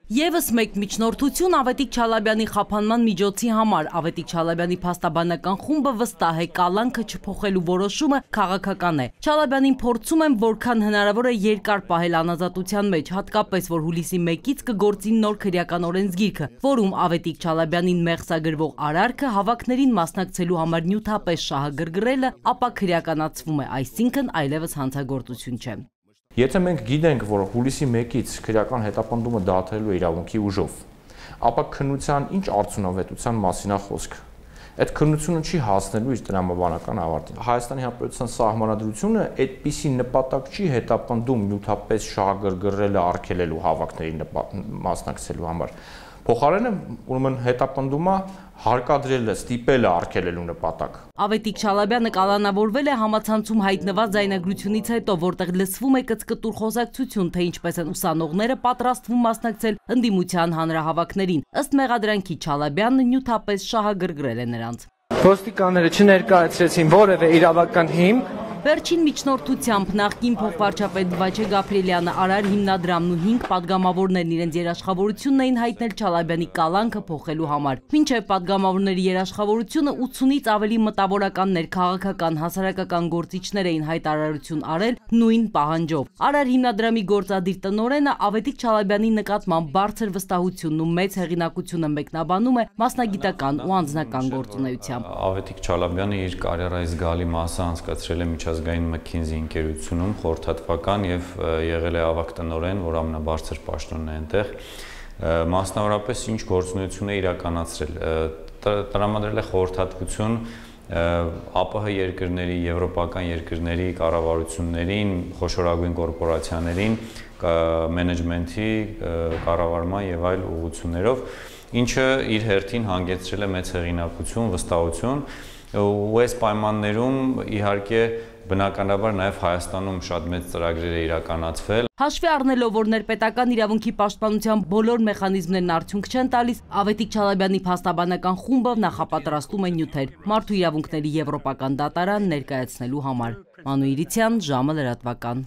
Եվս մեկ միջնորդություն Ավետիք Չալաբյանի խափանման միջոցի համար Ավետիք Չալաբյանի փաստաբանական խումբը վստահ է կալանքը չփոխելու որոշումը քաղաքական է։ Չալաբյանին փորձում են որքան հնարավոր է երկար պահել անազատության մեջ, հատկապես որ հուլիսի 1-ից կգործի նոր քրեական օրենսգիրքը, որում Ավետիք Չալաբյանին մեղսագրվող արարքը հավաքներին մասնակցելու համար նյութապես շահագրգռելը ապա քրեականացվում է, այսինքն այլևս հանցագործություն չէ։ Եթե մենք գիտենք, որ հուլիսի 1-ից քրեական հետապնդումը դադարելու է իրավունքի ուժով, ապա քննության ինչ արդյունավետության մասին է խոսքը։ Այդ քննությունը չի հասնելու իր տրամաբանական ավարտին։ Հայաստանի Հանրապետության սահմանադրությունը այդպիսի նպատակ չի հետապնդում նյութապես շահագրգռելը արգելելու հավաքների մասնակցելու համար։ Փոխարենը ուրեմն հետապնդումը հարկադրելը, ստիպելը արգելելու նպատակ։ Ավետիք Չալաբյանը կալանավորվել է համացանցում հայտնված ձայնագրությունից հետո, որտեղ լսվում է կծկտուր խոսակցություն, թե ինչպես են ուսանողները պատրաստվում մասնակցել ընդդիմության հանրահավաքներին։ Ըստ մեղադրանքի Չալաբյանը նյութապես շահագրգռել է նրանց։ Ոստիկանները չներկայացրեցին որևէ իրավական հիմք։ Վերջին միջնորդությամբ նախկին փոխվարչապետ Վաչե Գաբրիելյանը, Արար հիմնադրամն ու 5 պատգամավորներն իրենց երաշխավորությունն էին հայտնել Չալաբյանի կալանքը փոխելու համար։ Մինչև պատգամավորների երաշխավորությունը 80-ից ավելի մտավորականներ, քաղաքական, հասարակական գործիչներ էին հայտարարություն արել նույն պահանջով։ Արար հիմնադրամի գործադիր տնօրենը Ավետիք Չալաբյանի նկատմամբ բարձր վստահությունն ու մեծ հեղինակությունը մեկնաբանում է մասնագիտական ու անձնական գործունեությամբ։ Ավետիք Չալաբյանը իր կարիերայի զգալի մասը անցկացրել է միջազգային McKinsey ընկերությունում խորհրդատվական եւ եղել է ավագ տնօրեն, որ ամենաբարձր պաշտոնն է այնտեղ, մասնավորապես ինչ գործունեություն է իրականացրել, տրամադրել է խորհրդատվություն ԱՊՀ երկրների, եվրոպական երկրների կառավարություններին, խոշորագույն կորպորացիաներին, մենեջմենթի կառավարման եւ այլ ուղղություններով, ինչը իր հերթին հանգեցրել է մեծ հեղինակություն, վստահություն, ու այս պայմաններում իհարկե բնականաբար նաև Հայաստանում շատ մեծ ծրագրեր է իրականացվել։ Հաշվի առնելով, որ ներպետական իրավունքի պաշտպանության բոլոր մեխանիզմներն արդյունք չեն տալիս, Ավետիք Չալաբյանի փաստաբանական խումբը նախապատրաստում է նյութեր Մարդու իրավունքների եվրոպական դատարան ներկայացնելու համար։ Մանու Իրիցյան, ժամը լրատվական։